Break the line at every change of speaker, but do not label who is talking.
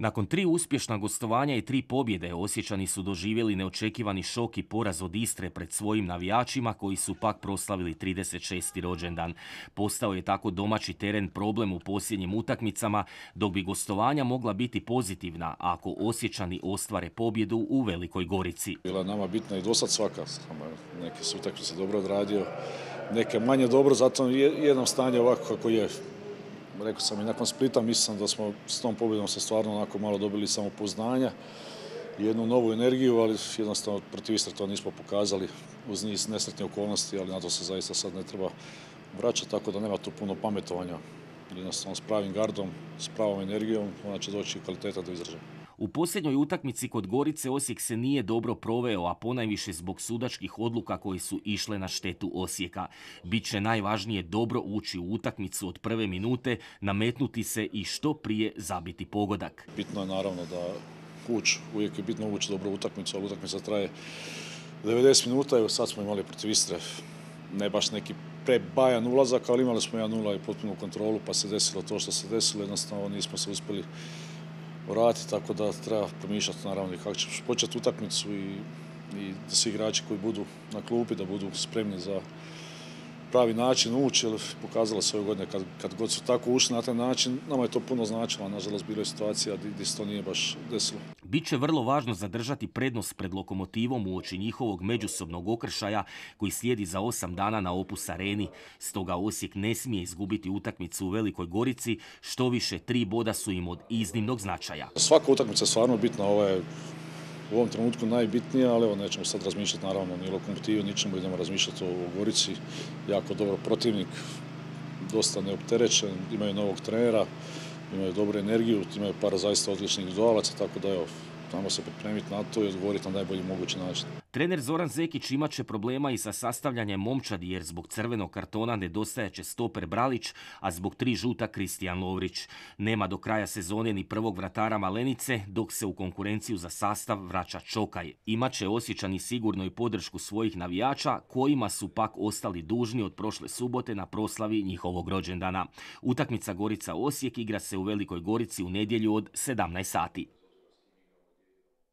Nakon 3 uspješna gostovanja i 3 pobjede, Osječani su doživjeli neočekivani šok i poraz od Istre pred svojim navijačima koji su pak proslavili 36. rođendan. Postao je tako domaći teren problem u posljednjim utakmicama, dok bi gostovanja mogla biti pozitivna ako Osječani ostvare pobjedu u Velikoj Gorici.
Bila je nama bitna i dosad svaka, neke su utakmice dobro odradio, neke manje dobro, zato jednom stanje ovako kako je. Rekao sam i nakon Splita, mislim da smo s tom pobjedom se stvarno onako malo dobili samopouzdanja i jednu novu energiju, ali jednostavno protiv Istre to nismo pokazali uz niz nesretnih okolnosti, ali na to se zaista sad ne treba vraćati, tako da nema tu puno pametovanja. Jednostavno s pravim gardom, s pravom energijom, ona će doći kvaliteta do izražaja.
U posljednjoj utakmici kod Gorice Osijek se nije dobro proveo, a ponajviše zbog sudačkih odluka koje su išle na štetu Osijeka. Biće najvažnije dobro ući u utakmicu od prve minute, nametnuti se i što prije zabiti pogodak.
Bitno je naravno da uvijek je bitno ući dobro u utakmicu, ali utakmica traje 90 minuta, evo sad smo imali protiv Istre ne baš neki prebajan ulazak, ali imali smo 1-0 i potpunu kontrolu, pa se desilo to što se desilo, jednostavno nismo se uspjeli vratiti, tako da treba promišljati naravno kako ćeš početi utakmicu i da svi igrači koji budu na klupi da budu spremni za pravi način ući, jer pokazalo se ove godine kad god su tako ušli na taj način, nama je to puno značilo, a nažalost bilo je situacija gdje se to nije baš desilo.
Biće vrlo važno zadržati prednost pred Lokomotivom uoči njihovog međusobnog okršaja koji slijedi za 8 dana na Opus Areni. Stoga Osijek ne smije izgubiti utakmicu u Velikoj Gorici, što više 3 boda su im od iznimnog značaja.
Svaka utakmica je stvarno bitna, ova je u ovom trenutku najbitnija, ali evo nećemo sad razmišljati naravno ni Lokomotivu, ničemu, idemo razmišljati o Gorici. Jako dobro protivnik, dosta neopterećen, imaju novog trenera, imaju dobru energiju, imaju par zaista odličnih dualaca, tako da evo, tamo se pripremiti na to i odgovoriti na najbolji mogući način.
Trener Zoran Zekić imat će problema i sa sastavljanjem momčadi jer zbog crvenog kartona nedostajaće stoper Bralić, a zbog 3 žuta Kristijan Lovrić. Nema do kraja sezone ni prvog vratara Malenice, dok se u konkurenciju za sastav vraća Čokaj. Imaće Osječani sigurno i podršku svojih navijača, kojima su pak ostali dužni od prošle subote na proslavi njihovog rođendana. Utakmica Gorica-Osijek igra se u Velikoj Gorici u nedjelju od 17 sati.